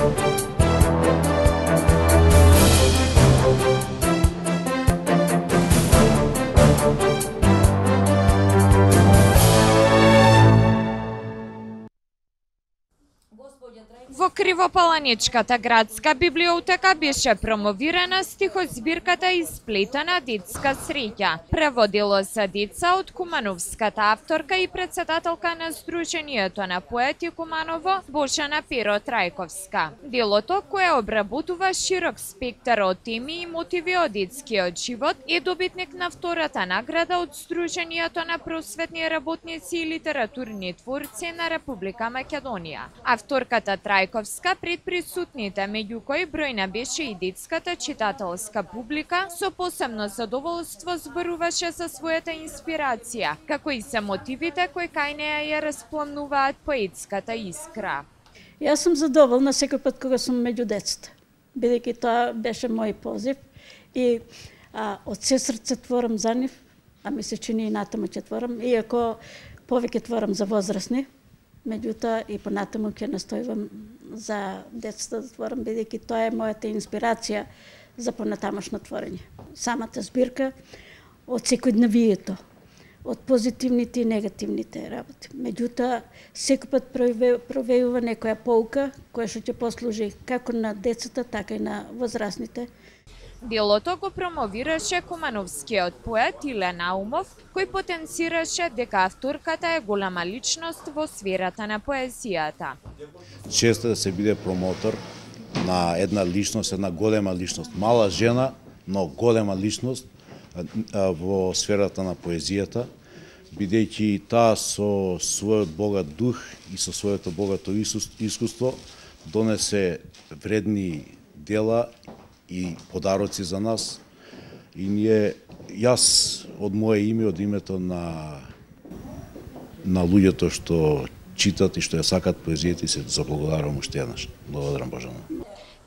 Во Кривопаланичката градска библиотека беше промовирана стихозбирката Исплетена детска среќа. Преводило се деца од кумановската авторка и председателка на Сдруженијето на поети Куманово Божана Перо Трајковска. Делото, кое обработува широк спектар од теми и мотиви од детскиот живот, е добитник на втората награда од Сдруженијето на просветни работници и литературни творци на Република Македонија. Авторката Трајковска пред присутните, меѓу кои бројна беше и детската читателска публика, со посебно задоволство зборуваше за својата инспирација, како и се мотивите кои кај неа ја распламнуваат поетската искра. Јас сум задоволна секој пат кога сум меѓу децата, бидејќи тоа беше мој позив и од се срце творам за нив, а ми се чини и натаму ќе творам, иако повеќе творам за возрастни. Меѓутоа и понатаму ќе настојувам за децата да творам, бидејќи тоа е мојата инспирација за понатамошно творење. Самата збирка од секојдневието, од позитивните и негативните работи. Меѓутоа, секој пат провејува некоја поука која што ќе послужи како на децата, така и на возрастните. Делото го промовираше кумановскиот поет Иле Наумов, кој потенцираше дека авторката е голема личност во сферата на поезијата. Често да се биде промотор на една личност, една голема личност, мала жена, но голема личност во сферата на поезијата, бидејќи таа со својот богат дух и со своето богато искуство донесе вредни дела и подароци за нас. И јас од моје име, од името на луѓето што читат и што ја сакат поезијата, се заблагодарувам уште еднаш. Благодарам, Божана.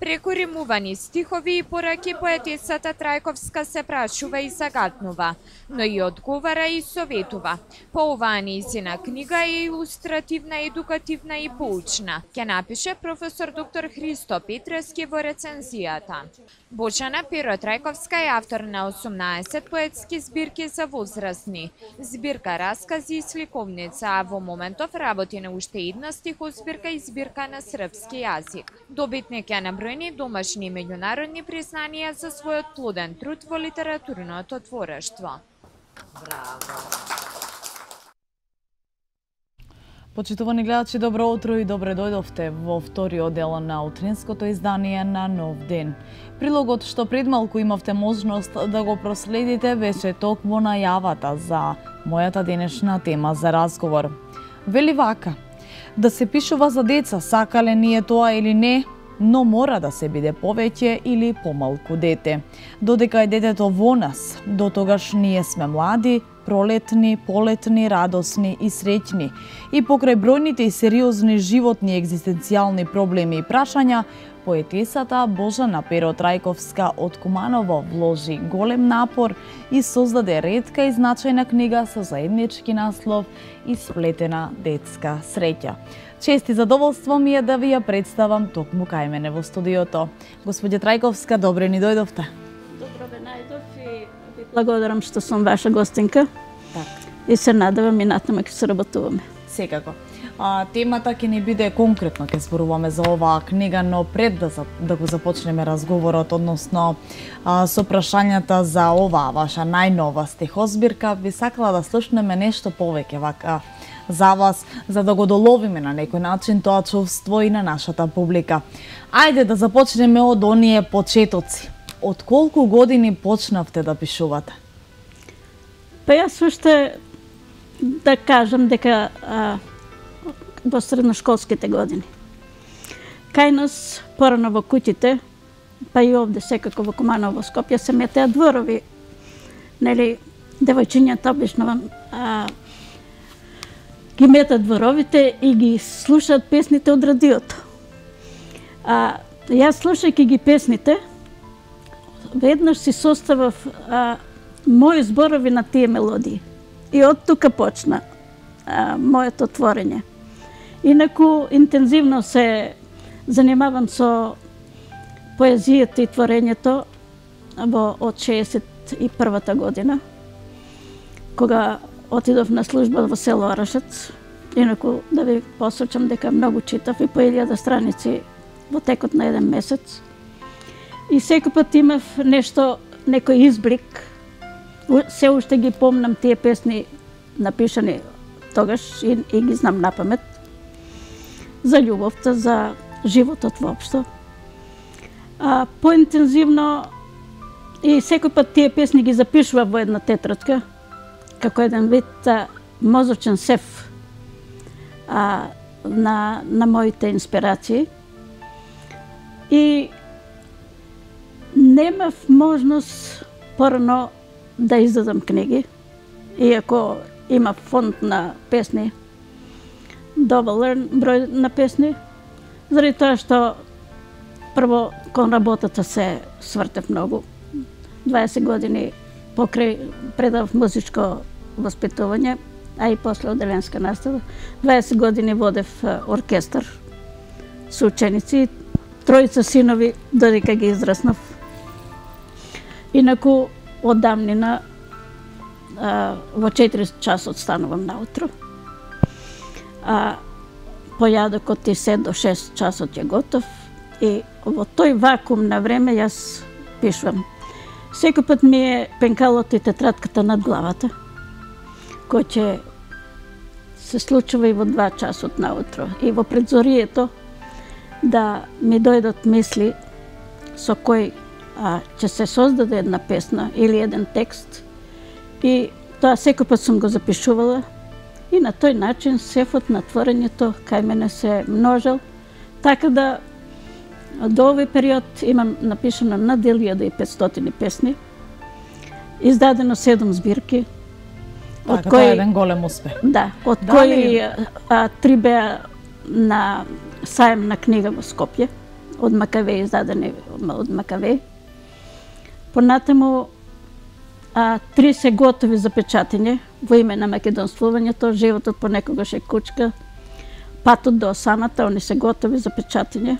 Преку римувани стихови и пораки поетесата Трајковска се прашува и загатнува, но и одговара и советува. По оваа нејзина книга е илустративна, едукативна и поучна, ќе напише професор доктор Христо Петрески во рецензијата. Божана Перо Трајковска е автор на 18 поетски збирки за возрастни, збирка раскази и сликовница, а во моментов работи на уште една стихозбирка и збирка на српски јазик. Добитник е на бројни домашни и меѓународни признанија за својот плоден труд во литературното творештво. Браво! Почитувани гледачи, добро утро и добре дојдовте во вториот дел на утринското издание на Нов ден. Прилогот што пред малку имавте можност да го проследите беше токму најавата за мојата денешна тема за разговор. Вели вака: да се пишува за деца, сакале ние тоа или не, но мора да се биде повеќе или помалку дете. Додека е детето во нас, дотогаш ние сме млади, пролетни, полетни, радосни и среќни. И покрај бројните и сериозни животни екзистенцијални проблеми и прашања, поетесата Божана Перо Трајковска од Куманово вложи голем напор и создаде ретка и значајна книга со заеднички наслов Исплетена детска среќа. Чест и задоволство ми е да ви ја представам токму кај мене во студиото. Господја Трајковска, добре ни дојдовте. Добро ве најдов и ви благодарам што сум ваша гостинка. Так. И се надевам и натаму ќе се работуваме. Секако. Темата ќе ни биде конкретно, ќе зборуваме за оваа книга, но пред да го започнеме разговорот, односно со прашањата за оваа ваша најнова стихозбирка, би сакала да слушнеме нешто повеќе вака за вас, за да го доловиме на некој начин тоа чувство и на нашата публика. Ајде да започнеме од оние почетоци. Од колку години почнавте да пишувате? Па јас уште да кажам дека во средношколските години. Кај нас, порано во куќите, па и овде секако во Куманово, Скопје, се метеа дворови. Нели, девојчињата обично ги метат дворовите и ги слушаат песните од радиото. Јас слушајќи ги песните, веднаш си составав мои зборови на тие мелодии. И од тука почна моето творење. Инаку, интензивно се занимавам со поезијата и творењето од 61-та година, кога отидов на служба во село Арашец. Инаку да ви посочам дека многу читав и по 1000 страници во текот на еден месец. И секој пат имав некој изблик. Се уште ги помнам тие песни напишани тогаш и ги знам напамет. За љубовта, за животот воопшто. Поинтензивно и секој пат тие песни ги запишував во една тетрадка, како еден вид мозочен сев на моите инспирации. И немав можност порано да издадам книги, иако има фонд на песни, доволен број на песни, заради тоа што прво кон работата се свртев многу. 20 години покрај предав музичко воспитување, а и после оделенска настава. 20 години водев оркестар со ученици, 3 синови додека ги израснав. Инаку од давнина во 4 часот станувам наутро. Појадокот и се до 6 часот е готов и во тој вакуум на време јас пишувам. Секој пат ми е пенкалот и тетратката над главата, кој ќе се случува и во 2 часот наутро. И во предзорието да ми дојдат мисли со кој ќе се создаде една песна или еден текст. И тоа секој пат сум го запишувала и на тој начин сефот на творењето кај мене се множел, така да до овој период имам напишано над 1500 песни, издадено 7 збирки. Така, тоа е еден голем успех. Да, од кои 3 беа на саем на книга во Скопје, од Макавеј, издадени од Макавеј. Понатаму 3 се готови за печатење во име на македонствувањето, животот понекогаш е кучка, патот до осамата, они се готови за печатење.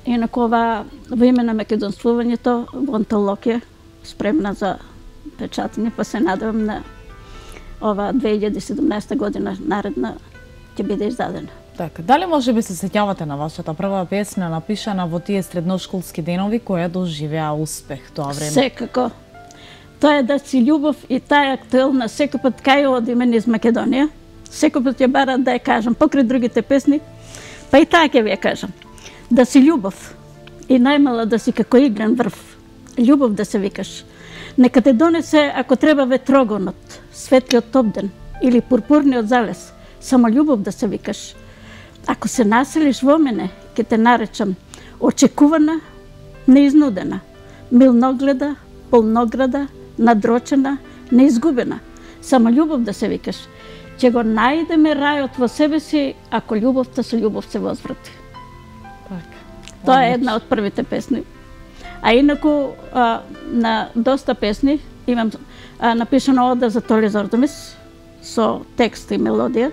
Инаку ова во име на македонствувањето во антологија спремна за печатење, па се надевам на ова 2017 година наредна ќе биде издадена. Така, дали може би се сеќавате на вашата прва песна напишана во тие средношколски денови која доживеа успех тоа време? Секако. Тоа е да си љубов и таа е актуелна секој пат кај одиме низ Македонија. Секој пат ја барат да ја кажам покрај другите песни, па и таа ќе ви ја кажам. Да си љубов и најмала да си како иглен врв. Љубов да се викаш. Нека те донесе ако треба ветрогонот, светлиот обден или пурпурниот залез. Само љубов да се викаш. Ако се населиш во мене, ќе те наречам очекувана, неизнудена, милногледа, полнограда, надрочена, неизгубена. Само љубов да се викаш. Ќе го најдеме рајот во себе си, ако љубовта со љубов се возврати. Тоа е една од првите песни. А инаку на доста песни имам напишано ода за Толи Зордомис со текст и мелодија.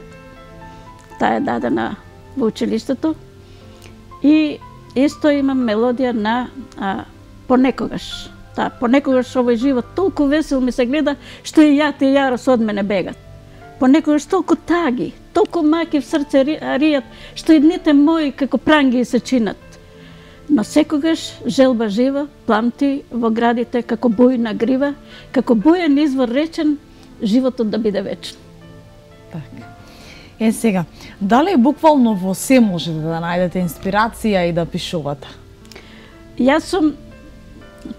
Таа е дадена во училиштето. И исто имам мелодија на Понекогаш. Понекогаш овој живот толку весел ми се гледа, што и јат и Јарос од мене бегат. Понекогаш толку таги, толку маки в срце ријат, што и дните мои како пранги се чинат. Но секогаш желба жива пламти во градите како бујна грива, како бујен извор речен, животот да биде вечен. Така. Сега, дали буквално во се можете да најдете инспирација и да пишувате? Јас сум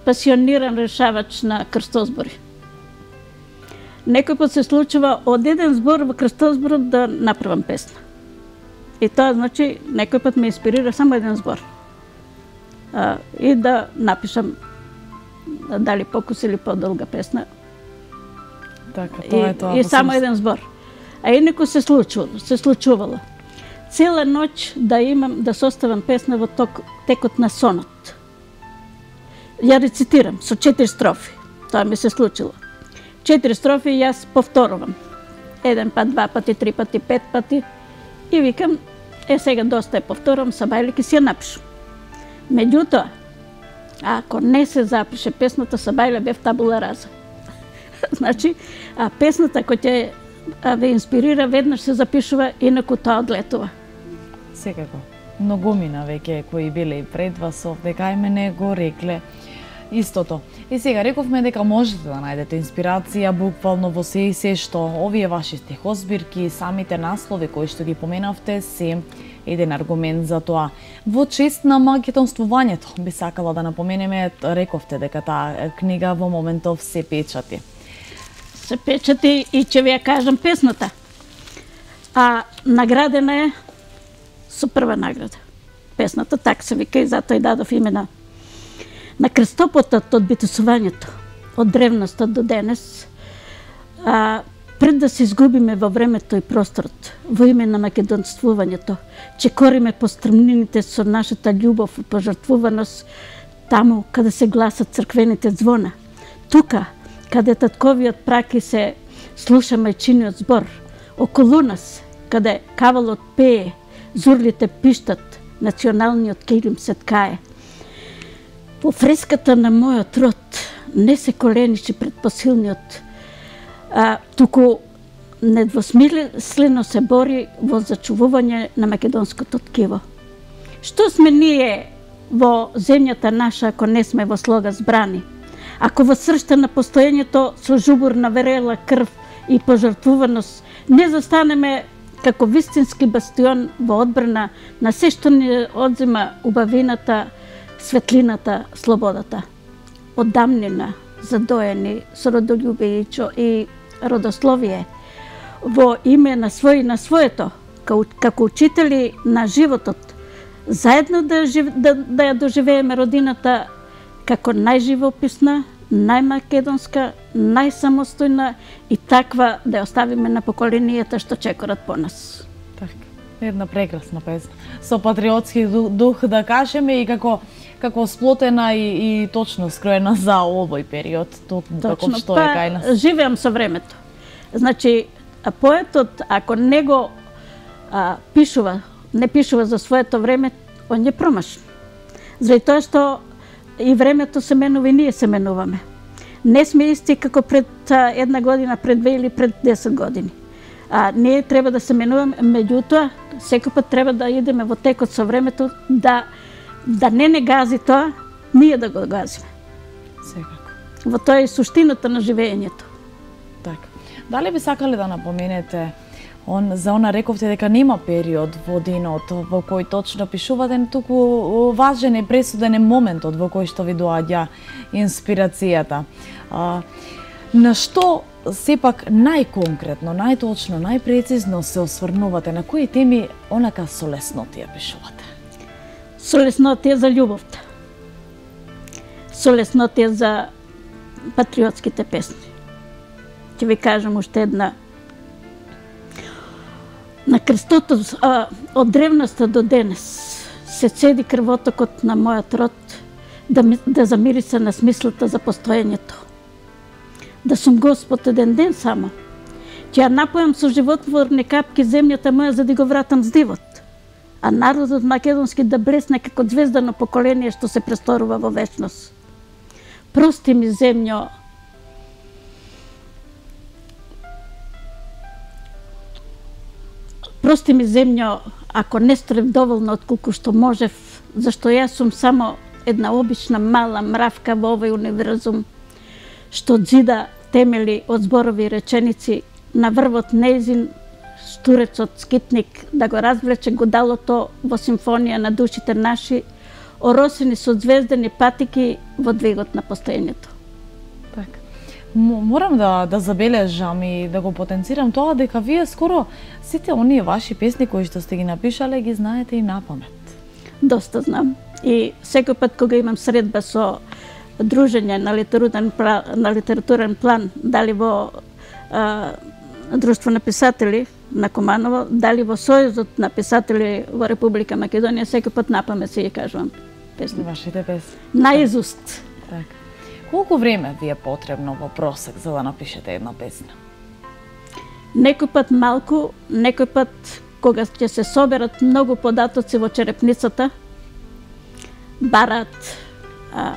пасиониран решавач на крстозбори. Некој пат се случува од еден збор во крстозборот да направам песна. И тоа значи некој пат ме инспирира само еден збор. И да напишам дали покус или подолга песна. Така, тоа е тоа. И само еден збор. А инаку се случувало. Цела ноќ да составам песна во текот на сонот. Ја рецитирам со 4 строфи. Тоа ми се случило. 4 строфи јас повторувам. 1 пат, 2 пати, 3 пати, 5 пати. И викам, сега доста е повторам, Сабајле ќе си ја напишу. Меѓутоа, ако не се запише песната, Сабајле бев табула раза. Значи, песната која ќе ве инспирира, веднаш се запишува, инаку тоа одлетува. Секако. Многумина веќе кои биле и пред вас овде кај мене го рекле истото. И сега рековме дека можете да најдете инспирација буквално во се и се што овие ваши стихозбирки, самите наслови кои што ги поменавте се еден аргумент за тоа. Во чест на македонствувањето би сакала да напоменеме, рековте дека таа книга во моментов се печати. Се печати и ќе ви ја кажам песната. Наградена е со прва награда. Песната така се вика и затоа и дадов имена на крстопотот од битусувањето, од древноста до денес, пред да се изгубиме во времето и просторот, во име на македонствувањето, че кориме по стрмнините со нашата љубов и пожртвуваност, таму каде се гласат црквените звона, тука каде татковиот праки се слуша мајчиниот збор, околу нас, каде кавалот пее, зурлите пиштат, националниот килим се ткае. Во фреската на мојот род не се коленичи пред посилниот, туку недвосмислено се бори во зачувување на македонското ткиво. Што сме ние во земјата наша ако не сме во слога збрани? Ако во сршта на постоењето со жубурна верела крв и пожртвуваност не застанеме како вистински бастион во одбрана на се што ни одзема убавината, светлината, слободата. Од дамнина, задоени со родолюбие и родословие, во име на свој на своето, како учители на животот, заедно да ја доживееме родината како најживописна, најмакедонска, најсамостојна и таква да ја оставиме на поколенијата што чекорат по нас. Така, една прекрасна песна. Со патриотски дух да кажеме и како сплотена и точно скроена за овој период, токму како што е кај нас. Живеам со времето. Значи, поетот, ако не го не пишува за своето време, он е промашен. Заради тоа што и времето се менува и ние се менуваме. Не сме исти како пред една година, пред 2 или пред 10 години. Ние треба да се менуваме, меѓутоа, секој пат треба да идеме во текот со времето, да не гази тоа, ние да го газиме. Секако. Во тоа е суштината на живеењето. Така. Дали би сакале да напоменете за она рековте дека нема период во денот во кој точно пишувате, туку важен е пресуден е моментот во кој што ви доаѓа инспирацијата. На што сепак најконкретно, најточно, најпрецизно се осврнувате, на кои теми онака со леснотија пишувате? Со леснотија за љубовта. Со леснотија за патриотските песни. Ќе ви кажам уште една. На крстото од древноста до денес се цеди крвотокот на мојот род да замириса на смислата за постоењето. Да сум Господ еден ден само. Ќе ја напојам со животворни капки земјата моја за да го вратам здивот. А народот македонски да блесне како звездано поколение што се престорува во вечност. Прости ми земјо, прости ми земјо, ако не сторев доволно отколку што можев, зашто јас сум само една обична мала мравка во овој универзум, што зида темели од зборови и реченици на врвот нејзин штурецот скитник да го развлече годалото во симфонија на душите наши, оросени со звездени патики во двигот на постоењето. Така. Морам да забележам и да го потенцирам тоа дека вие скоро сите оние ваши песни кои што сте ги напишале ги знаете и напамет. Доста знам. И секој пат кога имам средба со дружење на литературен план, дали во Друштво на писатели на Куманово, дали во Сојузот на писатели во Република Македонија, секој пат напамет си ги кажувам песни. Вашите песни. Наизуст. Така. Колку време ви е потребно во просек за да напишете една песна? Некој пат малку, некој пат кога ќе се соберат многу податоци во черепницата, бараат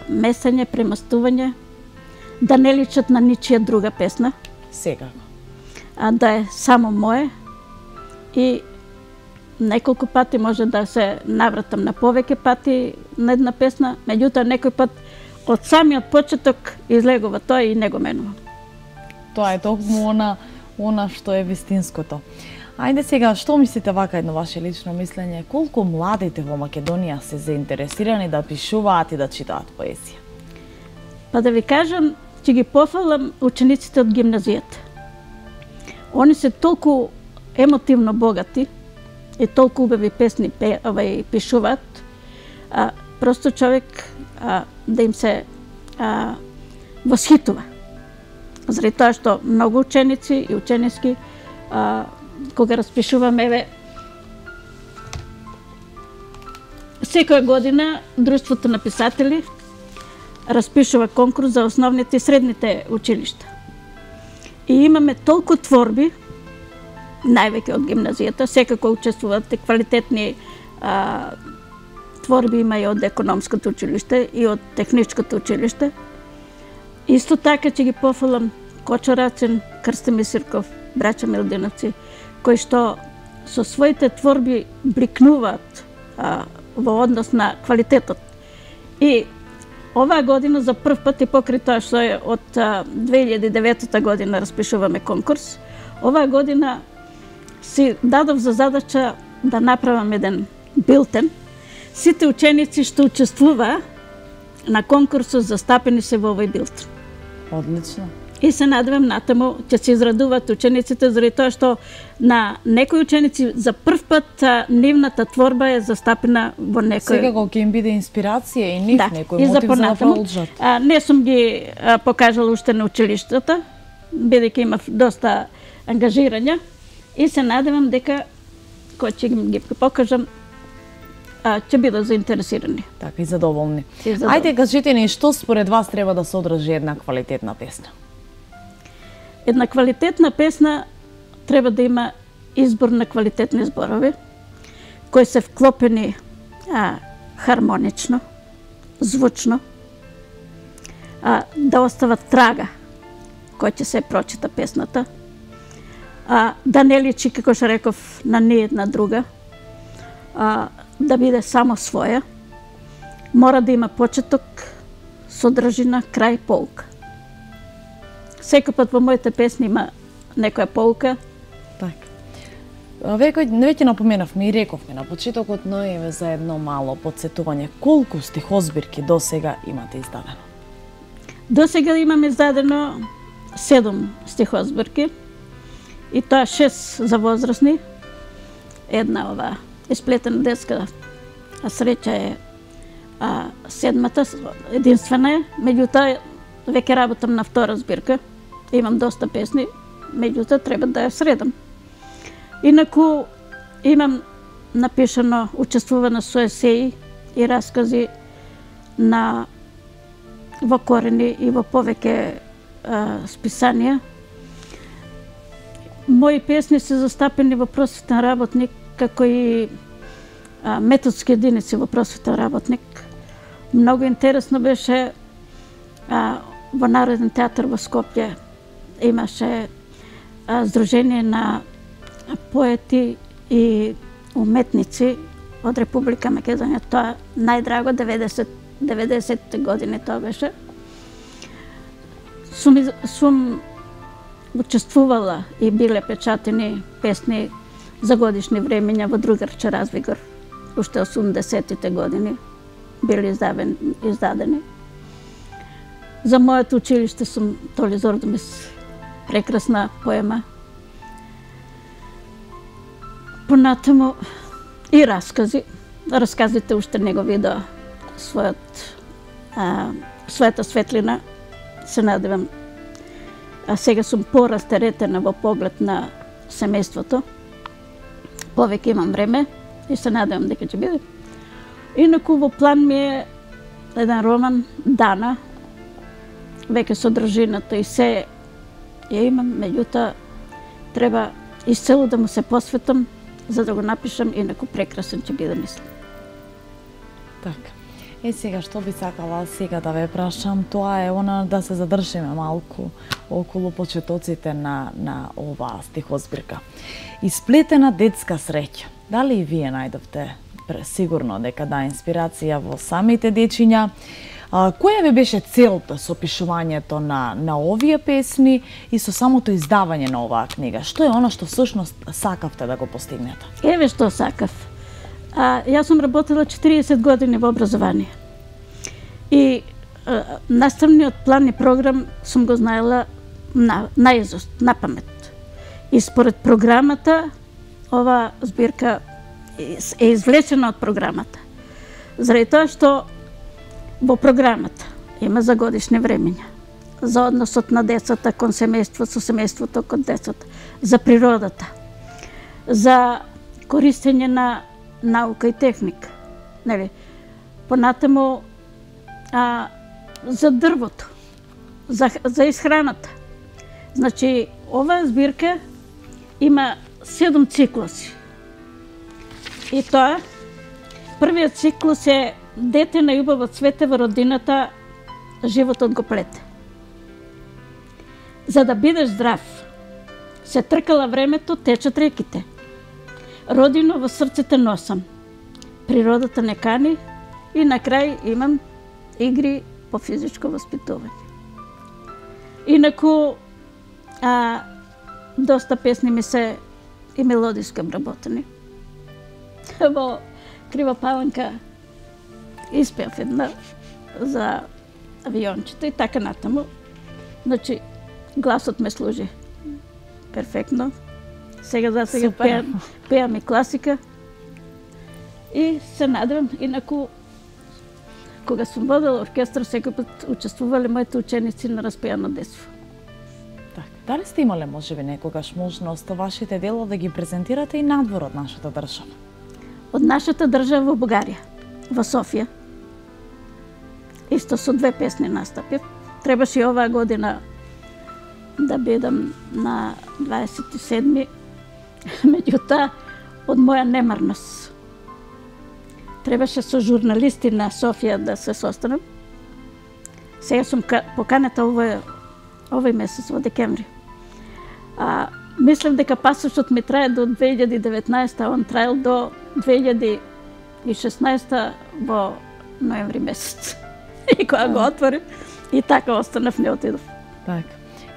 месење, премастување, да не личат на ничија друга песна, Секако. да е само мое, и неколку пати може да се навратам на повеќе пати на една песна, меѓутоа некој пат од самиот почеток излегува тоа и не го менувам. Тоа е токму она што е вистинското. Ајде сега, што мислите вака едно ваше лично мислење? Колку младите во Македонија се заинтересирани да пишуваат и да читаат поезија? Па да ви кажам, ќе ги пофалам учениците од гимназијата. Они се толку емотивно богати и толку убави песни пишуваат, просто човек да им се восхитува. Заради тоа што многу ученици и учениски кога распишуваме, еве, секоја година Друштвото на писатели распишува конкурс за основните и средните училишта. И имаме толку творби, највеќе од гимназијата, секако учествуваат и квалитетни творби има и од економското училиште и од техничкото училиште. Исто така ќе ги пофалам Кочо Рацин, Крстимир Сирков, браќа Милдиновци, кои што со своите творби брикнуваат во однос на квалитетот. И оваа година за прв пат, и покрај тоа што е од 2009 година распишуваме конкурс, оваа година си дадов за задача да направам еден билтен. Сите ученици што учествуваа на конкурсот застапени се во овој билтен. Одлично. И се надевам натаму ќе се израдуваат учениците, заради тоа што на некои ученици за прв пат нивната творба е застапена во некој. Секако ќе им биде инспирација и нив некој мотив за да продолжат. Не сум ги покажала уште на училиштата, бидејќи имав доста ангажирања, и се надевам дека кога ќе ги покажам ќе бидат заинтересирани. Така и задоволни. Ајде, кажете ни што според вас треба да содржи една квалитетна песна? Една квалитетна песна треба да има избор на квалитетни зборови, кои се вклопени хармонично, звучно, да остават трага кој ќе се прочита песната, да не личи, како што реков, на ниедна друга, да биде само своја, мора да има почеток, содржина, крај, поука. Секој пат во моите песни има некоја поука. Така. Веќе напоменавме и рековме на почетокот, но еве за едно мало подсетување. Колку стихозбирки досега имате издадено? Досега имаме издадено 7 стихозбирки, и тоа 6 за возрастни. Една ова исплетена детска среќа е 7-та, единствена е, меѓутоа веќе работам на втора збирка. Имам доста песни, меѓутоа треба да ја средам. Инаку имам напишано, учествувано со есеи и раскази во корени и во повеќе списанија. Мои песни се застапени во просветен работник, како и методски единици во просветен работник. Многу интересно беше во Народен театар во Скопје имаше Сдружение на поети и уметници од Република Македонија. Тоа најдраго 90 години тоа беше. Сум учествувала и биле печатени песни за годишни времења во Другарче Развигор. Уште 80-тите години били издадени. За моето училиште сум Толи Зордомис, прекрасна поема. Понатаму и раскази. Расказите уште не го видоа својата светлина. Се надевам. Сега сум порастеретена во поглед на семејството. Повеќе имам време и се надевам дека ќе биде. Инаку во план ми е еден роман Дана. Веќе содржината и се ја имам, меѓутоа треба исцело да му се посветам за да го напишам, инаку прекрасен ќе биде, мислам. Така. Сега што би сакала сега да ве прашам, тоа е да се задржиме малку околу почетоците на оваа стихозбирка. Исплетена детска среќа. Дали и вие најдовте сигурно дека инспирација во самите дечиња? Која ви беше целта со пишувањето на овие песни и со самото издавање на оваа книга? Што е она што всушност сакавте да го постигнете? Еве што сакав. Јас сум работела 40 години во образование. И наставниот план и програм сум го знаела наизуст, на памет. И според програмата, ова збирка е извлечена од програмата. Заради тоа што во програмата има за годишни времења, за односот на децата кон семејство, со семејството кон децата, за природата, за користење на наука и техника, нели? Понатаму за дрвото, за исхраната. Значи, оваа збирка има 7 циклуси. И тоа, првиот циклус е дете на љубово цвете во родината, животот го плете. За да бидеш здрав, се тркала времето, течат реките. Родино во срцете носам, природата не кани и на крај имам игри по физичко воспитување. Инаку, доста песни ми се и мелодиски обработени. Во Крива паланка испеав една за авиончето и така натаму. Значи, гласот ме служи перфектно. Сега пеам и класика. И се надевам, инаку, кога сум водела оркестар, секој пат учествувале моите ученици на распеано детство. Так, дали сте имале можеби некогаш можност вашите дела да ги презентирате и надвор од нашата држава? Од нашата држава во Бугарија, во Софија. Исто со 2 песни настапив. Требаше и оваа година да бидам на 27-ми. Меѓутоа, од моја немарност. Требаше со журналисти на Софија да се состанам. Сега сум поканета овој месец, во декември. Мислам дека пасошот ми трае до 2019, а он траел до 2016 во ноември месец. И кога го отворив, и така останав, не отидов. Так.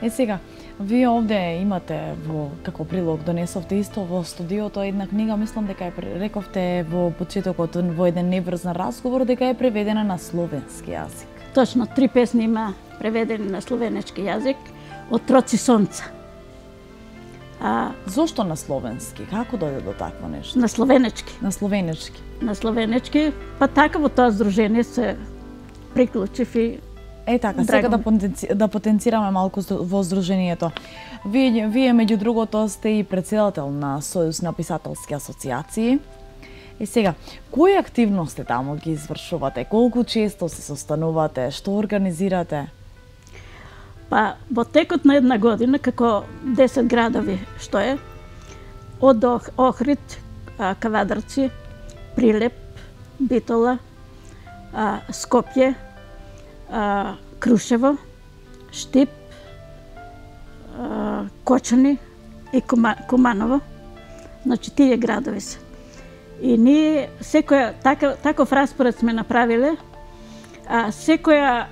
Сега, вие овде имате како прилог донесовте исто во студиото една книга, мислам дека рековте во почетокот во еден неврзан разговор дека е преведена на словенски јазик. Точно, 3 песни има преведени на словенечки јазик од Троци сонца. Зошто на словенски? Како дојде до такво нешто? На словенечки. На словенечки. На словенечки, па така во тоа здружение се приклучив и така, сега да потенцираме малку во здруженијето. Вие меѓу другото сте и претседател на Сојуз на писателски асоциации. И сега, кои активности таму ги извршувате? Колку често се состанувате? Што организирате? Па, во текот на една година, како 10 градови, што е, од Охрид, Кавадарци, Прилеп, Битола, Скопје, Крушево, Штип, Кочани и Куманово. Значи, тие градови се. И ние секоја таков распоред сме направиле, секоја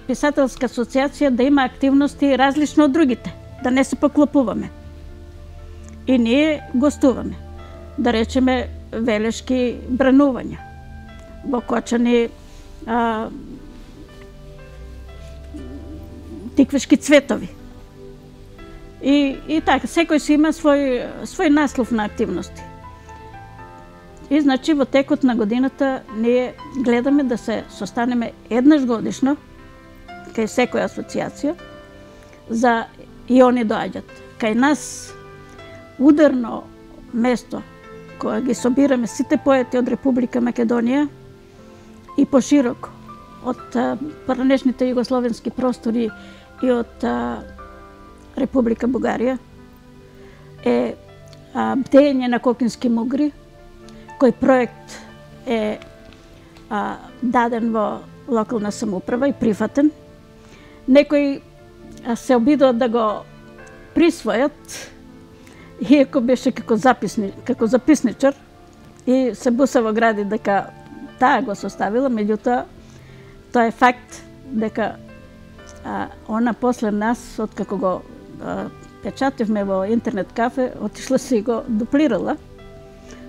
писателска асоциација да има активности различно од другите, да не се поклопуваме. И ние гостуваме, да речеме велешки бранувања. Во Кочани тиквешки цветови. И така, секој си има свој наслов на активности. И значи во текот на годината ние гледаме да се состанеме еднаш годишно кај секоја асоциација за и они доаѓат. Кај нас ударно место кога ги собираме сите поети од Република Македонија и пошироко од пранешните југословенски простори и од Република Бугарија е бдење на кокински мугри, кој проект е даден во локална самоуправа и прифатен. Некои се обидуваат да го присвојат, иако беше како записничар и се буса во гради дека таа го составила, меѓутоа тоа е факт дека она после нас, откако го печативме во интернет кафе, отишла си го дуплирала.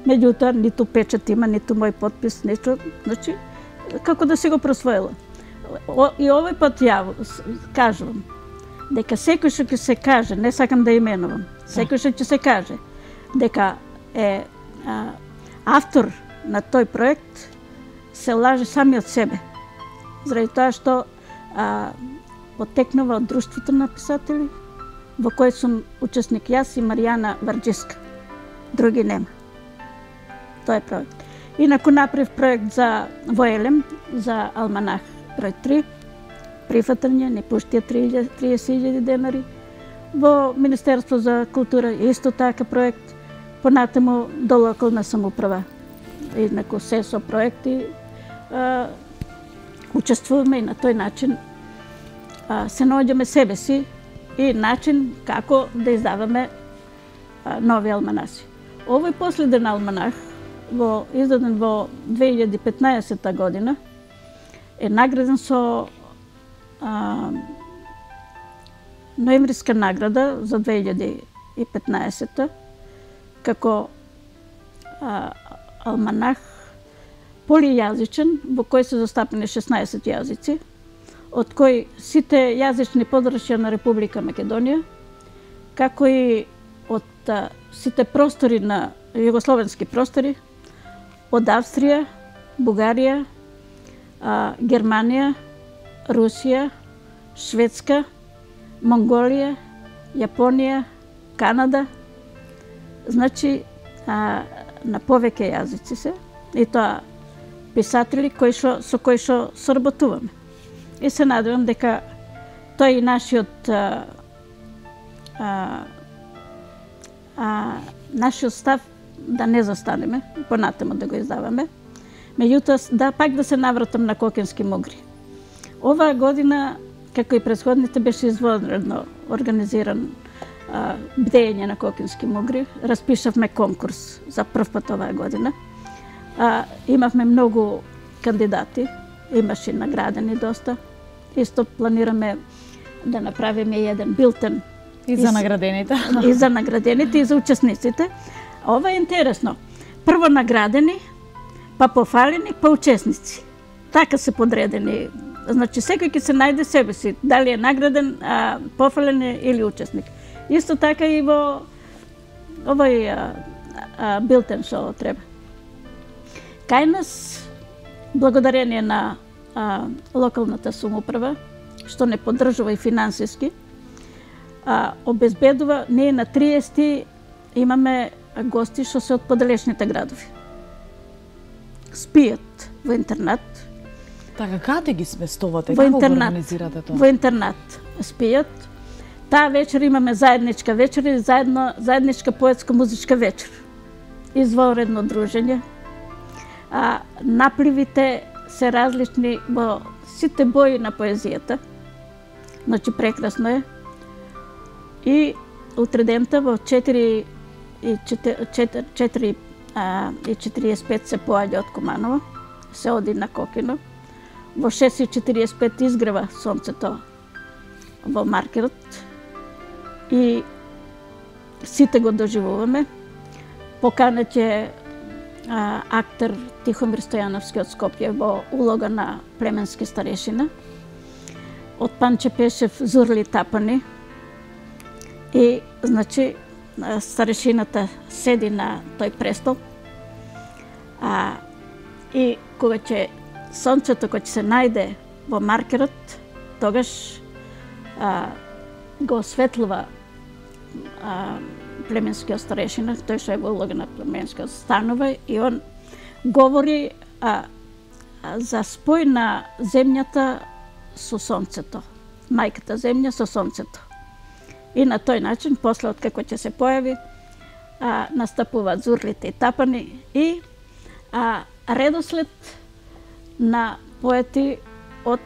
Меѓутоа, ниту печат има, ниту мој подпис, ничто, значи, како да си го просвоила. И овој пат ја кажувам, дека секој што ќе се каже, не сакам да именувам, секој што ќе се каже, дека е автор на тој проект, се лаже самиот себе. Заради тоа што потекнува од Друштвото на писатели, во кој сум учесник јас и Маријана Варџиска. Други нема. Тоа е проект. Инаку направив проект за Воелем, за Алманах број 3, прифатање, не пуштија 30.000 денари. Во Министерство за култура исто така проект, понатаму до локална самоуправа. Инаку се со проекти учествуваме и на тој начин се наоѓаме себе си и начин како да издаваме нови алманаси. Овој последен алманах, издаден во 2015 година, е награден со ноемвриска награда за 2015 како алманах полијазичен, во кој се застапени 16 јазици, од кои сите јазични подрачја на Република Македонија, како и од сите простори на југословенски простори, од Австрија, Бугарија, Германија, Русија, Шведска, Монголија, Јапонија, Канада, значи на повеќе јазици се, и тоа писатели со кои што соработуваме. И се надевам дека тој и нашиот став да не застанеме, понатаму да го издаваме. Меѓутоа, пак да се навратам на кокински мугри. Оваа година, како и претходните, беше извонредно организиран бдење на кокински мугри. Распишавме конкурс за прв пат оваа година. Имавме многу кандидати, имаше наградени доста. Исто планираме да направиме еден билтен и за наградените. И за наградените, и за учесниците. Ова е интересно. Прво наградени, па пофалени, па учесници. Така се подредени. Значи, секој ќе се најде себе си, дали е награден, пофален или учесник. Исто така и во овој билтен што треба. Кај нас, благодарение на локалната самоуправа, што не поддржува и финансиски, обезбедува, ние на 30 имаме гости што се од поделечните градови. Спијат во интернат. Така, каде ги сместувате? Како го организирате тоа? Во интернат спијат. Таа вечер имаме заедничка вечер и заедничка поетско-музичка вечер. Извонредно дружење. Напливите се различни во сите бои на поезијата. Значи, прекрасно е. И утредента во 4:45 се поаѓа од Куманово, се оди на Кокино. Во 6:45 изгрева сонцето во маркерот и сите го доживуваме. Поканет е актер Тихомир Стојановски од Скопје во улога на племенски старешина. Од Панче Пешев Зурли Тапани. И, значи, старешината седи на тој престол. И кога ќе сонцето кој ќе се најде во маркерот, тогаш го осветлува племенскиот старешина, тој што е во улога на племенскиот станува, и он говори за спој на земјата со сонцето, мајката земја со сонцето. И на тој начин, после откако ќе се појави, настапуваат зурлите и тапани и редослед на поети од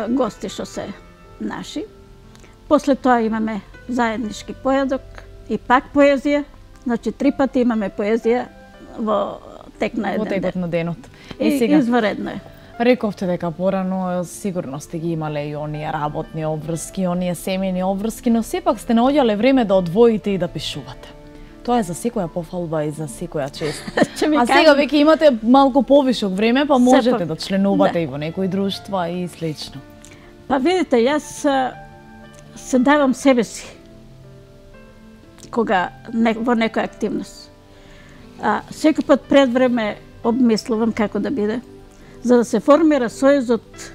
гости што се наши. После тоа имаме заеднички поедок и пак поезија, значи 3 пати имаме поезија во тек на еден ден. Во текот на денот. И сега, изваредно е. Рековте дека порано сигурно сте ги имале и оние работни обврски, оние семејни обврски, но сепак сте наоѓале време да одвоите и да пишувате. Тоа е за секоја пофалба и за секоја чест. А сега веќе имате малку повишок време, па можете да членувате и во некои друштва и слично. Па видите, јас се давам себе си кога во некоја активност. Секој пат пред време обмислувам како да биде, за да се формира Сојузот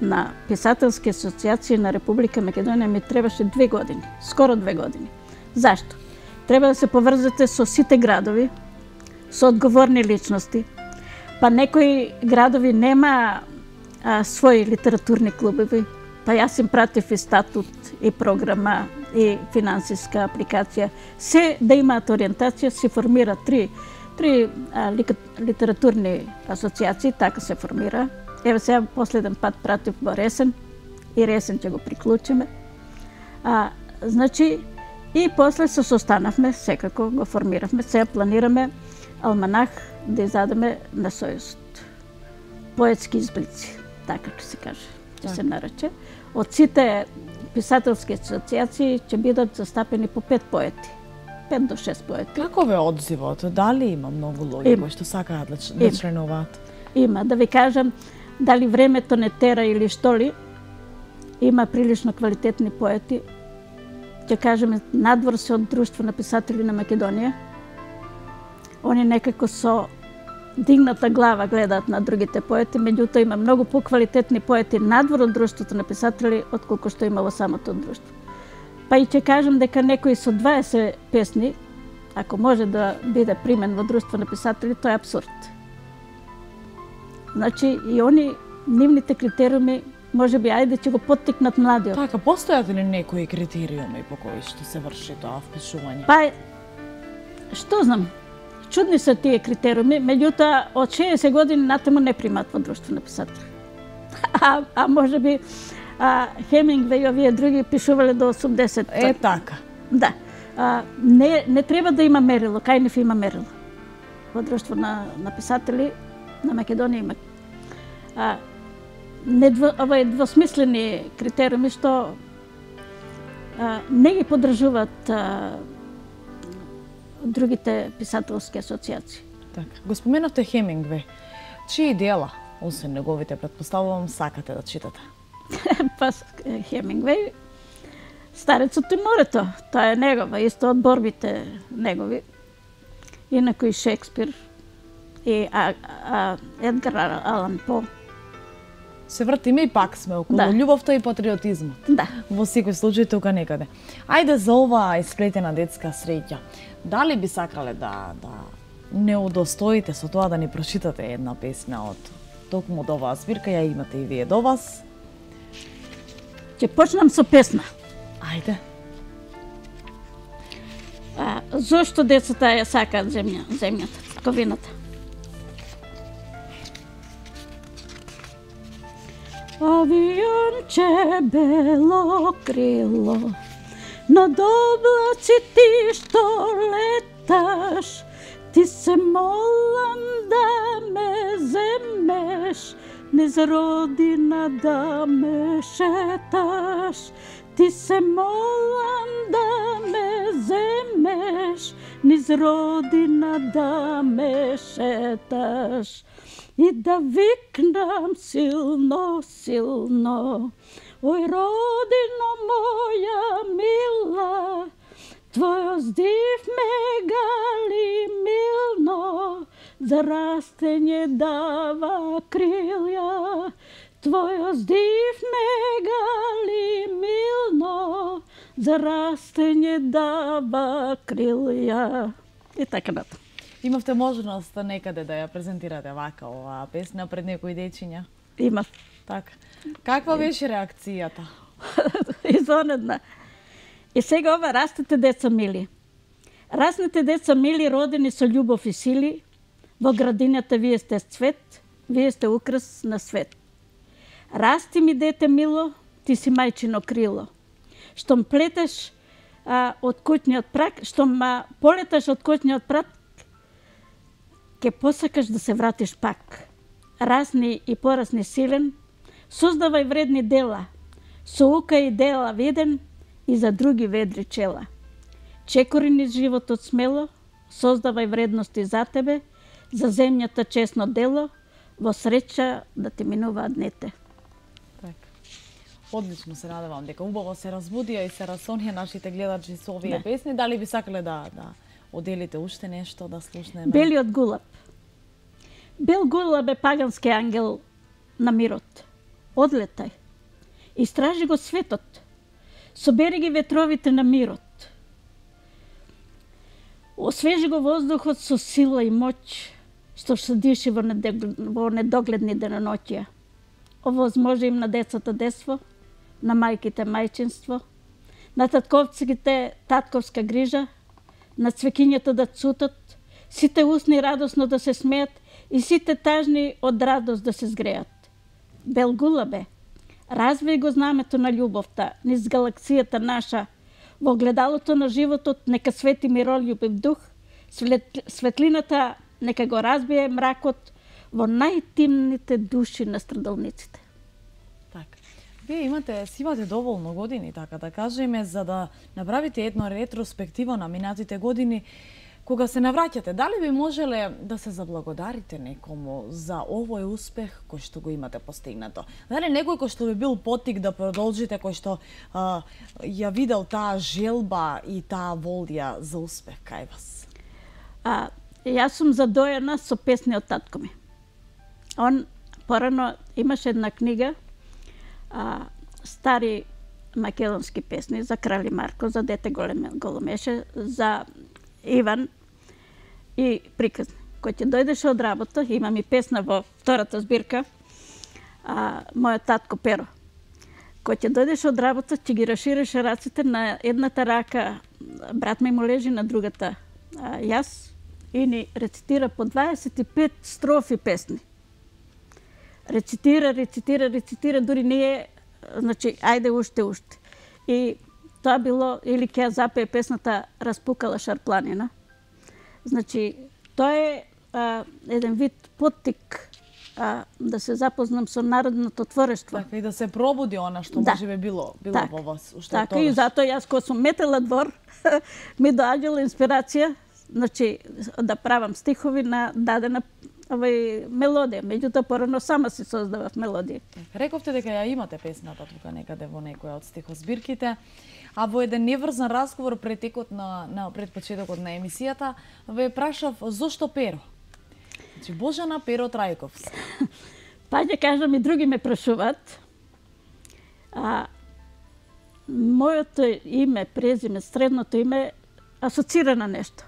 на писателски асоциации на Република Македонија ми требаше 2 години, скоро 2 години. Зашто? Треба да се поврзате со сите градови, со одговорни личности, па некои градови нема своји литературни клубови, па јас им пратив и статут, и програма, и финансиска апликација. Се да имаат ориентација, се формира три литературни асоциации, така се формира. Еве сега последен пат пратив во Ресен, и Ресен ќе го приклучиме. Значи, и после се состанавме, секако го формиравме, сега планираме алманах да изадеме на Сојузот. Поетски изблици, така ќе се каже, ќе се нарече. Од сите писателски асоциации ќе бидат застапени по 5 поети. 5 до 6 поети. Како ве одзивот? Дали има многу луѓе кои што сакаат да членуваат? Има, да ви кажам, дали времето не тера или што ли, има прилично квалитетни поети. Ќе кажеме, надвор се од Друштво на писатели на Македонија. Они некако со дигната глава гледаат на другите поети, меѓутоа има многу поквалитетни поети надвор од Друштвото на писатели отколку што има во самото друштво. Па и ќе кажам дека некои со 20 песни, ако може да биде примен во Друштво на писатели, тоа е апсурд. Значи и они, нивните критериуми, може би ајде ќе го поттикнат младиот. Така, постојат ли некои критериуми по кои што се врши тоа впишување? Па, што знам, чудни се тие критериуми, меѓутоа од 60 години натаму не примат во Друштво на писатели. А може би Хемингвеј и овие други пишувале до 80. Е, така. Да. Не треба да има мерило, кај нив има мерило. Во Друштво на писатели на Македонија има. Ова е двосмислени критериуми што не ги поддржуваат другите писателски асоциации. Така. Го споменавте Хемингвеј. Чии дела, освен неговите, предпоставувам, сакате да читате? Па Хемингвеј, Старецот и морето, тоа е негова, исто од борбите негови. Инаку и Шекспир, и Едгар Алан По. Се вртиме и пак сме околу љубовта и патриотизмот. Да. Во секој случај тука некаде. Ајде за оваа исплетена детска среќа. Дали би сакале да не удостоите со тоа да ни прочитате една песна од токму од оваа збирка, ја имате и вие до вас? Ќе почнам со песна. Ајде. Зошто децата ја сакаат земјата, ковината? Авионче бело крило, над облаци ти што леташ, ти се молам да ме земеш, низ родина да ме шеташ. Ти се молам да ме земеш, низ родина да ме шеташ. И да викнам силно, силно, ој родино моја мила, твој здив ме гали милно, за растење дава крилја. Твој здив ме гали милно, за растење дава крилја. И така натаму. Имавте можност некаде да ја презентирате вака оваа песна пред некои дечиња? Имав. Така. Каква беше реакцијата? Изонедна. И сега ова растете, деца мили. Разните деца мили родени со љубов и сили, во градината вие сте цвет, вие сте украс на свет. Расти ми дете мило, ти си мајчино крило. Штом плетеш од куќниот прак, штом полеташ од куќниот прак, ке посакаш да се вратиш пак. Расни и порасни силен, создавај вредни дела, со ука и дела виден и за други ведри чела. Чекори низ животот смело, создавај вредности за тебе, за земјата честно дело, во среќа да ти минуваат днете. Одлично се надевам дека убаво се разбудија и се расонија нашите гледачи со овие песни. Дали би сакале да оделите уште нешто да слушнеме? Белиот гулаб. Бел гулаб е пагански ангел на мирот. Одлетај. Истражи го светот. Собери ги ветровите на мирот. Освежи го воздухот со сила и моќ, што се диши во недогледни деноноќија. Овозможи им на децата детство, на мајките мајчинство, на татковците татковска грижа, на цвекињата да цутат, сите усни радосно да се смеат и сите тажни од радост да се згреат. Бел гулабе, развеј го знамето на љубовта низ галаксијата наша, во огледалото на животот нека свети миролюбив дух, светлината нека го разбие мракот во најтимните души на страдалниците. Така. Вие имате доволно години, така да кажеме, за да направите едно ретроспективо на минатите години. Кога се навраќате, дали би можеле да се заблагодарите некому за овој успех кој што го имате постигнато? Дали некој кој што би бил потик да продолжите, кој што ја видел таа желба и таа волја за успех кај вас? Јас сум задоена со песни од татко ми. Он порано имаше една книга, стари македонски песни за Крали Марко, за Дете Големеше, за Иван и приказни. Кој ќе дојдеше од работа, имам и песна во втората збирка, мојот татко Перо. Кој ќе дојдеше од работа, ќе ги рашираше раците, на едната рака брат ми му лежи, на другата јас, и ни рецитира по 25 строфи песни. Рецитира, дури ние, значи, ајде уште. И тоа било, или ќе ја запее песната Распукала шарпланина. Значи, тоа е еден вид поттик да се запознам со народното творештво. Така, и да се пробуди она што можеби било во вас уште така, тогаш. И затоа јас кога сум метела двор, ми доаѓала инспирација, значи, да правам стихови на дадена мелодија. Меѓутоа, порано сама си создавав мелодија. Рековте дека ја имате песната тука некаде во некоја од стихозбирките, а во еден неврзан разговор пред почетокот на емисијата ве прашав зошто Перо? Значи, Божана Перо Трајковска. Па ќе кажам, и други ме прашуваат. Моето име, презиме, средното име асоцира на нешто.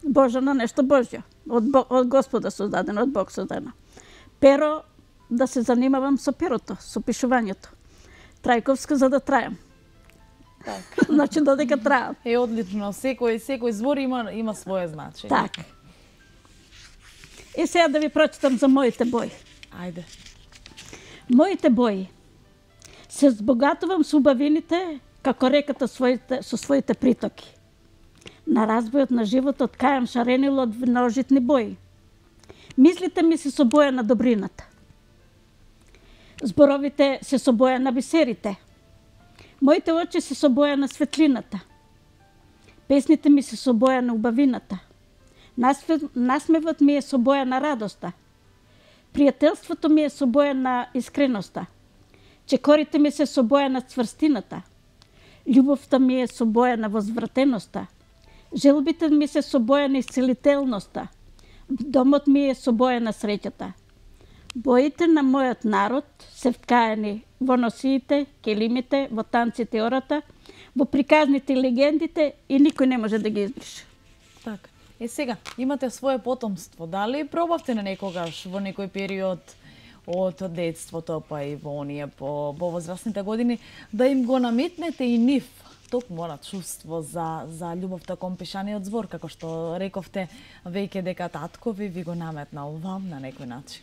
Божана, нешто Божјо. Од Господа создадено, од Бог создадено. Перо, да се занимавам со перото, со пишувањето. Трајковска, за да трајам. Так. Значи, додека трајам. Одлично. Секој збор има свое значење. Така. И сега да ви прочитам за моите бои. Ајде. Моите бои. Се збогатувам со убавините, како реката со своите притоки. На разбојот на животот кајам шаренило од множитни бои. Мислите ми се со боја на добрината. Зборовите се со боја на бисерите. Моите очи се со боја на светлината. Песните ми се со боја на убавината. Насмевот ми е со боја на радоста. Пријателството ми е со боја на искреноста. Чекорите ми се со боја на цврстината. Љубовта ми е со боја на возвратеноста. Желбите ми се со боја на исцелителноста. Домот ми е со боја на среќата. Боите на мојот народ се вткаени во носиите, келимите, во танците и ората, во приказните и легендите и никој не може да ги избрише. Така. Сега, имате свое потомство. Дали пробавте на некогаш во некој период од детството, па и во оние по возрастните години, да им го наметнете и нив токму она чувство за љубовта кон пишаниот збор, како што рековте веќе дека таткови ви го наметнал вам на некој начин?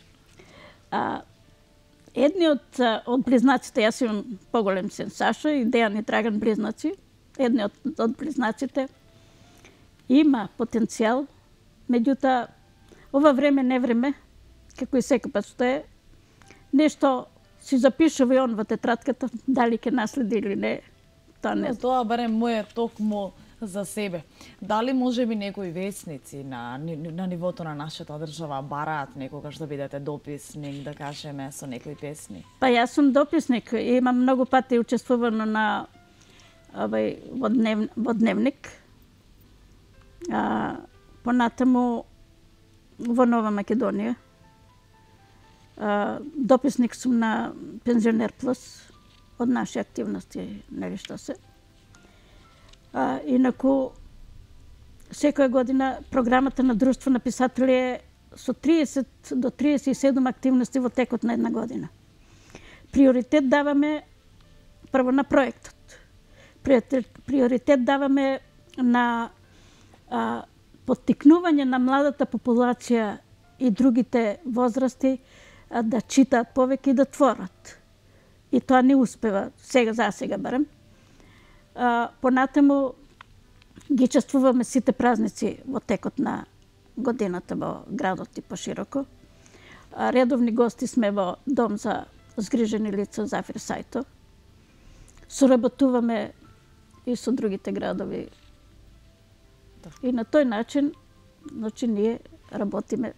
Едни од близнаците, јас имам поголем син Сашо и Дејан и Драган близнаци, едни од близнаците има потенцијал, меѓутоа ова време не време, како и секој пат што е, нешто си запишува и он во тетратката, дали ќе наследи или не, тоа не знам. Тоа барем моје токму за себе. Дали може би некои весници на нивото на нашата држава бараат некогаш да бидете дописник, да кажеме, со некои песни? Па јас сум дописник и имам многу пати учествувано на во дневник. Понатаму во Нова Македонија. Дописник сум на Пензионер Плюс од наши активности, нели што се. Инаку, секоја година програмата на Друштво на писатели е со 30 до 37 активности во текот на една година. Приоритет даваме прво на проектот. Приоритет даваме на поттикнување на младата популација и другите возрасти да читаат повеќе и да творат. И тоа не успева, за сега барем. Понатаму ги чествуваме сите празници во текот на годината во градот и пошироко. Редовни гости сме во Дом за згрижени лица Зафир Сајто. Соработуваме и со другите градови. И на тој начин, ние работиме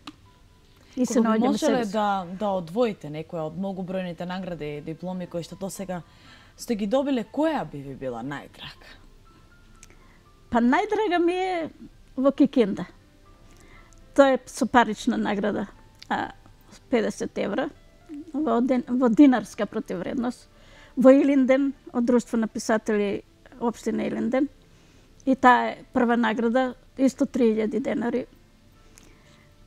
и се наоѓаме себе. Можеле да одвоите некоја од многобројните награди и дипломи кои што досега сте ги добиле, која би ви била најдрага? Па најдрага ми е во Кикинда. Тоа е со парична награда, 50 евра, во динарска противвредност, во Илинден, од Друштво на писатели општина Илинден. И таа е прва награда, исто 3000 денари.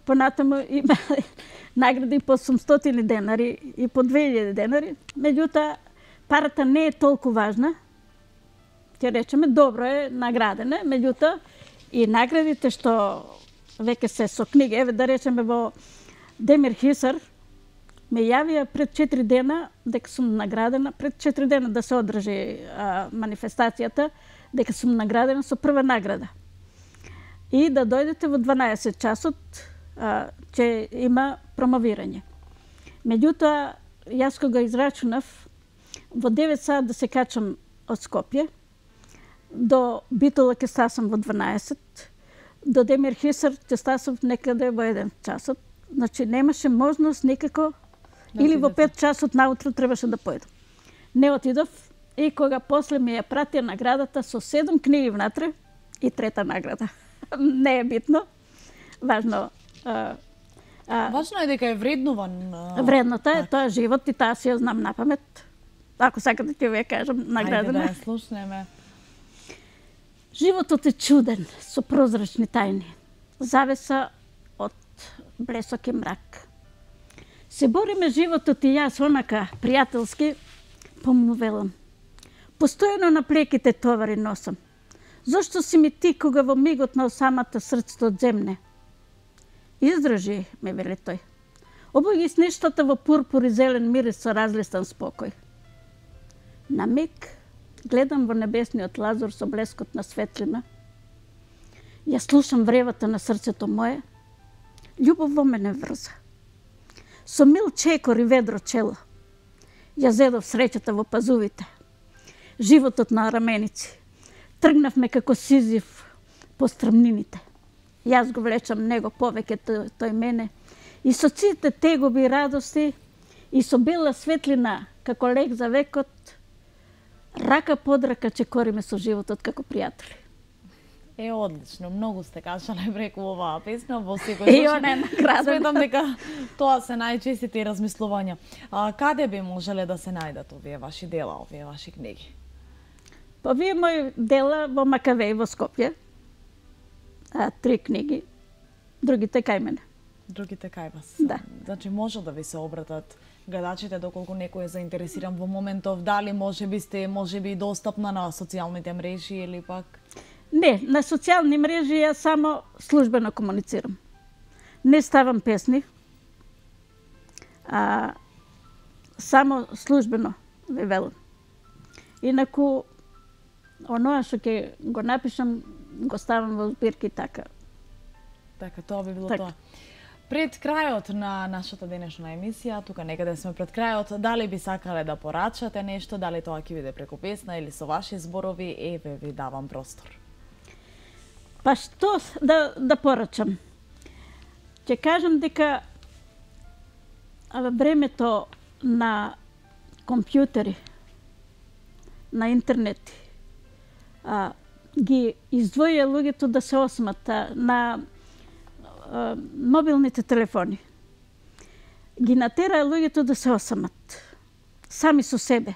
Понатаму има награди по 800 денари и по 2000 денари. Меѓутоа, парата не е толку важна. Ќе речеме, добро е наградена, меѓутоа и наградите што веќе се со книги, еве да речеме во Демир Хисар, ме јавија пред 4 дена дека сум наградена, пред 4 дена да се одржи манифестацијата, дека сум наградена со прва награда. И да дојдете во 12 часот, ќе има промовирање. Меѓутоа, јас кога израчунав, во 9 саат да се качам од Скопје, до Битола ќе стасам во 12, до Демир Хисар ќе стасам некаде во 1 часот. Значи, немаше можност никако, или во 5 часот наутро требаше да појдам. Не отидов и кога после ми ја пратија наградата со 7 книги внатре и 3-та награда. Не е битно. Важно Важно е дека е вреднуван. Вредната е, тоа е живот и таа си ја знам напамет. Ако сакате ќе ви ја кажам наградена. Ајде да ја слушнеме. Животот е чуден, со прозрачни тајни. Завеса од блесок и мрак. Се бориме животот и јас онака, пријателски, помну велам. Постојано на плеките товари носам. Зошто си ми ти кога во мигот на осамата срцето одземне? Издржи, ме вели тој. Обој ги снештата во пурпур и зелен мирис со разлистан спокој. На миг гледам во небесниот лазур со блескот на светлина. Ја слушам вревата на срцето мое. Љубов во мене врза. Со мил чекор и ведро чело. Ја зедов среќата во пазувите. Животот на раменици. Тргнавме како Сизиф по страмнините. Јас го влечам него повеќе тој мене. И со сите тегоби и радости, и со бела светлина, како лек за векот, рака под рака чекориме со животот како пријатели. Е, одлично, многу сте кажале преку оваа песна, во секој случај. И она е наградена. Сметам дека тоа се најчестите размислувања. Каде би можеле да се најдат овие ваши дела, овие ваши книги? Па вие мои дела во Макавеј во Скопје. 3 книги, другите кај мене. Другите кај вас? Да. Значи може да ви се обратат гледачите доколку некој е заинтересиран во моментов, дали можеби сте достапна на социјалните мрежи или пак? Не, на социјални мрежи ја само службено комуницирам. Не ставам песни, само службено ве велам. Инаку, оноа што ќе го напишам, го ставам во збирки така. Така, тоа би било тоа. Пред крајот на нашата денешна емисија, тука некаде сме пред крајот, дали би сакале да порачате нешто, дали тоа ќе биде преку песна или со ваши зборови, еве ви давам простор. Па што да порачам? Ќе кажам дека во времето на компјутери, на интернети, ги издвоја луѓето да се осмат на мобилните телефони. Ги натера луѓето да се осамат. Сами со себе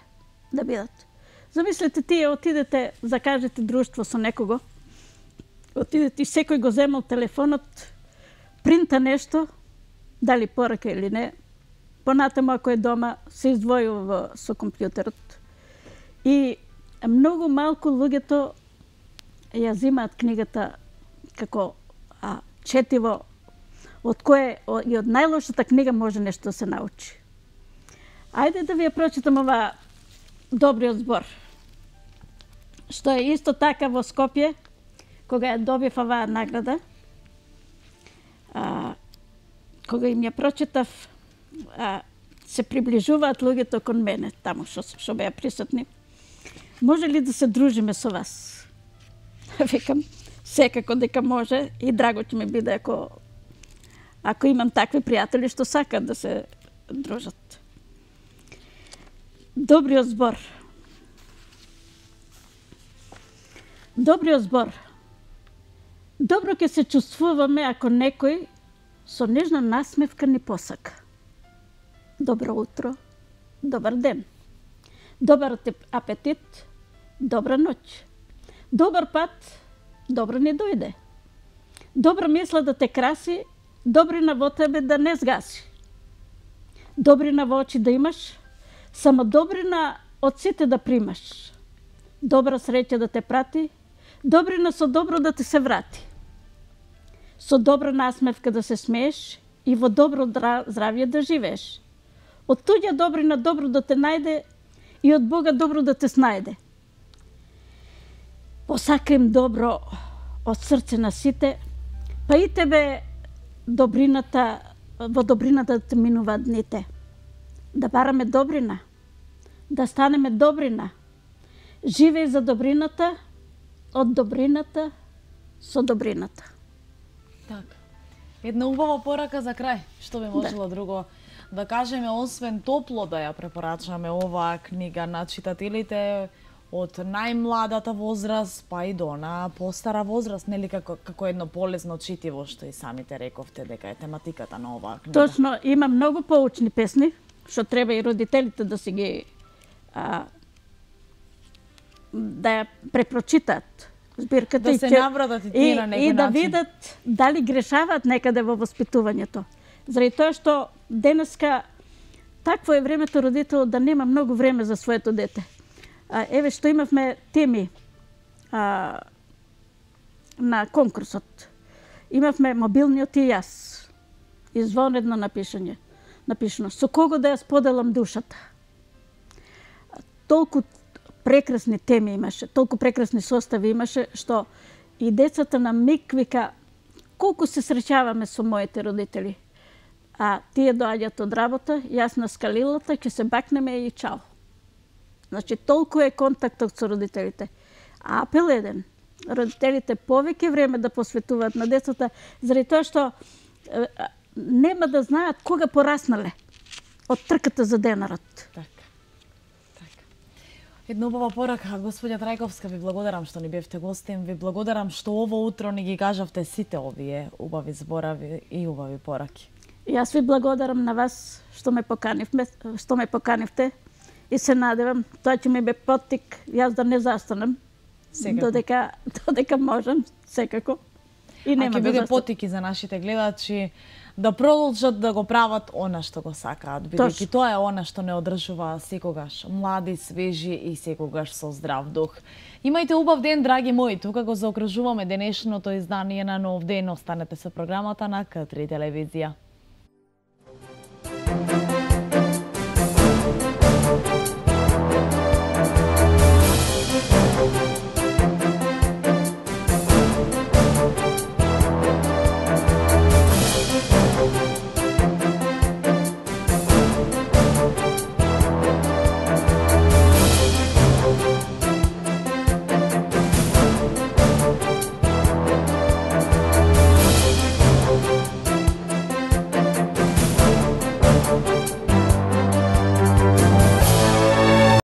да бидат. Замислете, тие отидете, закажете друштво со некого, отидете и секој го земал телефонот, принта нешто, дали порака или не, понатаму ако е дома, се издвојува со компјутерот. И многу малку луѓето ја зимаат книгата како четиво, од кое и од најлошата книга може нешто да се научи. Ајде да ви ја прочитам ова добриот збор, што е исто така во Скопје, кога ја добив оваа награда, кога им ја прочитав, се приближуваат луѓето кон мене, таму што беа присутни. Може ли да се дружиме со вас? Викам, секако дека може и драго ќе ми биде ако имам такви пријатели што сакат да се дружат. Добриот збор. Добриот збор. Добро ќе се чувствуваме ако некој со нежна насмевка ни посака. Добро утро, добар ден. Добар апетит, добра ноќ. Добар пат, добро ни дојде. Добра мисла да те краси, добрина во тебе да не сгаси. Добрина во очи да имаш, само добрина од сите да примаш. Добра среќа да те прати, добрина со добро да те се врати. Со добра насмевка да се смееш и во добро здравје да живееш. Од туѓа добрина добро да те најде и од Бога добро да те снајде. Посакаем добро од срце на сите, па и тебе во добрината да те минуваат дните. Да бараме добрина, да станеме добрина. Живеј за добрината, од добрината со добрината. Така. Една убава порака за крај. Што би можело друго да кажеме, освен топло да ја препорачаме оваа книга на читателите од најмладата возраст па и до на постара возраст, нели како едно полезно читиво, што и самите рековте дека е тематиката на оваа книга. Точно, има многу поучни песни, што треба и родителите да си ги да ја препрочитаат збирката да се навратат и тие на некој начин. И да видат дали грешаваат некаде во воспитувањето. Заради тоа што денеска такво е времето родител да нема многу време за своето дете. Еве што имавме теми на конкурсот. Имавме мобилниот и јас. Извонредно напишано. Со кого да ја споделам душата. Толку прекрасни теми имаше, толку прекрасни состави имаше, што и децата на миг вика колку се среќаваме со моите родители. А тие доаѓаат од работа, јас на скалилата, ќе се бакнеме и чао. Значи, толку е контактот со родителите. А апел еден, родителите повеќе време да посветуваат на децата, заради тоа што нема да знаат кога пораснале од трката за денарот. Така. Една убава порака, господја Трајковска, ви благодарам што ни бевте гостин, ви благодарам што ово утро ни ги кажавте сите овие убави зборови и убави пораки. Јас ви благодарам на вас што ме поканивте и се надевам тоа ќе ми бе поттик јас да не застанам. Додека можам, секако. И нема ќе да биде застанам. поттик и за нашите гледачи да продолжат да го прават она што го сакаат, бидејќи тоа е она што не одржува секогаш млади, свежи и секогаш со здрав дух. Имајте убав ден, драги мои, тука го заокружуваме денешното издание на Нов ден. Останете со програмата на К3 телевизија.